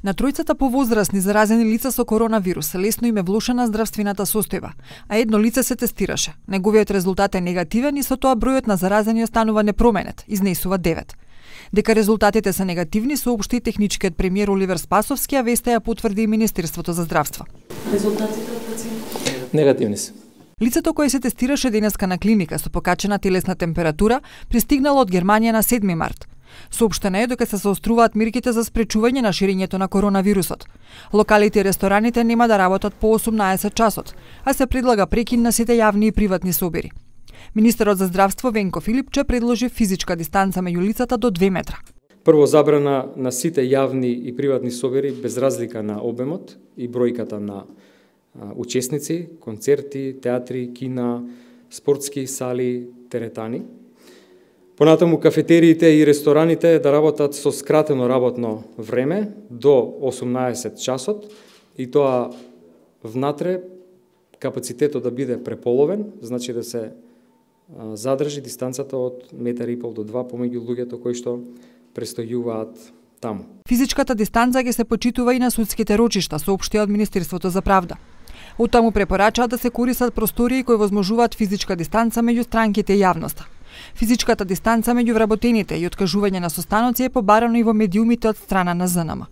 На тројцата повозрасни заразени лица со коронавирус лесно им е влошена здравствената состојба, а едно лице се тестираше. Неговиот резултат е негативен и со тоа бројот на заразени останува непроменет, изнесува 9. Дека резултатите се негативни соопшти техничкиот премиер Оливер Спасовски, а веста ја потврди и Министерството за здравство. Резултатите од пациентите негативни се. Лицето кое се тестираше денеска на клиника со покачена телесна температура пристигнало од Германија на 7 март. Соопштено е дека се заоструваат мерките за спречување на ширењето на коронавирусот. Локалите и рестораните нема да работат по 18 часот, а се предлага прекин на сите јавни и приватни собири. Министерот за здравство Венко Филипче предложи физичка дистанца меѓу лицата до 2 метра. Прво, забрана на сите јавни и приватни собири без разлика на обемот и бројката на учесници, концерти, театри, кина, спортски сали, теретани. Понатаму кафетериите и рестораните да работат со скратено работно време до 18 часот и тоа внатре капацитетот да биде преполовен, значи да се задржи дистанцата од 1,5 метар до 2 помеѓу луѓето кои што престојуваат таму. Физичката дистанца ќе се почитува и на судските рочишта, соопштија од Министерството за правда. Оттаму препорачаат да се користат простории кои возможуваат физичка дистанца меѓу странките и јавноста. Физичката дистанца меѓу вработените и откажување на состаноци е побарано и во медиумите од страна на ЗНМ.